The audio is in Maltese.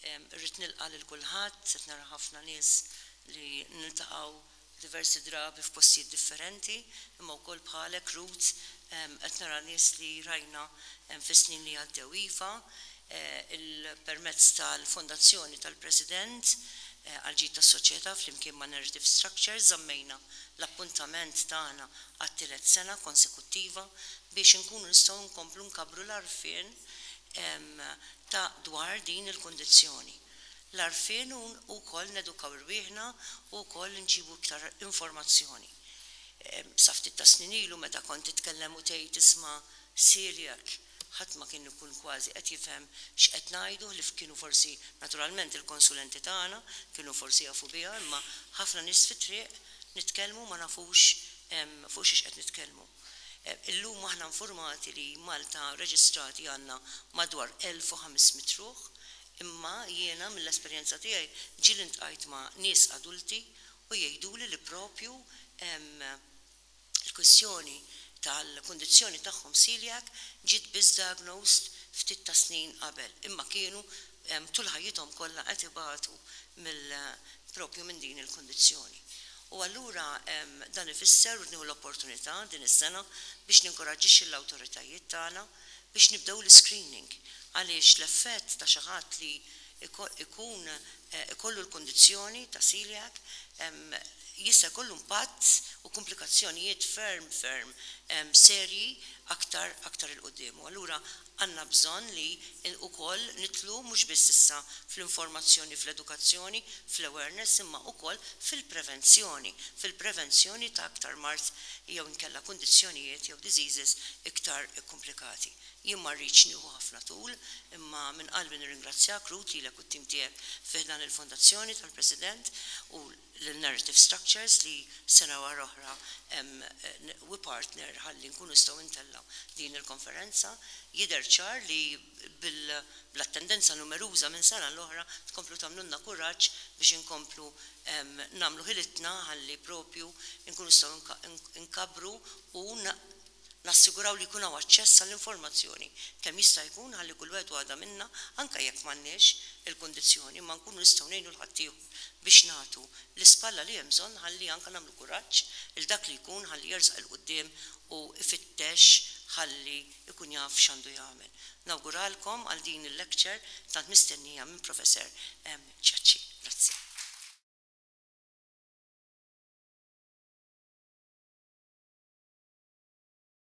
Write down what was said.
Irrid nilqa' lil kulħadd, qed nara ħafna nies li niltaqgħu diversi drabi f'postijiet differenti, imma wkoll bħalek Ruth qed nara nies li rajna fis-snin li għaddew. Iva, permezz tal-Fondazzjoni tal-President għall-Ġid tas-Soċjetà flimkien ma' Narrative Structures żammejna l-appuntament tagħna għat-tielet sena konsekuttiva biex inkunu nistgħu nkomplu nkabbru l-għarfien ta' dwar din il-kundizzjoni. L-għarfien u wkoll nedukaw irwieħna u wkoll inġibu iktar informazzjoni. Sa ftit ta' snin ilu meta kont titkellem u tgħid isma' celiac ħadd ma kien ikun kważi qed jifhem x'qed ngħidu ħlief kienu forsi naturalment il-konsulenti tagħna kienu forsi jafu biha imma ħafna nies fit-triq nitkellmu ma nafux fuq xiex qed nitkellmu. Illum aħna infurmati li Malta reġistrati għandna madwar 1,500 ruħ imma jiena mill-esperjenza tiegħi ġieli ltqajt ma' nies adulti u jgħiduli li propju il-kwistjoni tal-kundizzjoni tagħhom celiac ġiet biss diagnosed ftit ta' snin qabel imma kienu tul ħajjithom kollha qed ibatu mill propju minn din il-kundizzjoni. U allura dan ifisser u nieħu l-opportunità din is-sena biex ninkoraġġixxi l-awtoritajiet tagħna biex nibdew l-screening għaliex l-effett ta' xi ħadd li ikun ikollu l-kundizzjoni ta' celiac jista' jkollu impatt u komplikazzjonijiet ferm ferm serji aktar aktar 'il quddiem. U allura għandna bżonn li wkoll nidħlu mhux biss issa fl-informazzjoni, fl-edukazzjoni, fl-awareness imma wkoll fil-prevenzjoni, fil-prevenzjoni ta' aktar mard jew inkella kundizzjonijiet jew diseases iktar ikkumplikati. Jien ma rridx nieħu ħafna tul imma minn qalbi nirringrazzjak Ruth lilek u t-tim tiegħek fi ħdan il-Fondazzjoni tal-President u lil Narrative Structures li sena wara oħra we partner ħalli nkunu nistgħu ntellgħu din il-konferenza. Jidher ċar li bl-attendenza numeruża minn sena l-oħra tkomplu tagħmlulna kuraġġ biex inkomplu nagħmlu ħilitna ħalli propju nkunu nistgħu nkabbru u nassiguraw li jkun hawn aċċess għall-informazzjoni kemm jista' jkun ħalli kull wieħed u waħda minna anke jekk m'għandniex il-kundizzjoni imma nkunu nistgħu ngħinu 'l ħaddieħor biex nagħtu l-ispalla li hemm bżonn ħalli anke nagħmlu kuraġġ lil dak li jkun ħalli jersaq 'il quddiem u jfittex ħalli jkun jaf x'għandu jagħmel. Nawguralkom għal din il-lecture tant mistennija minn Professor Ciacci. Grazzi.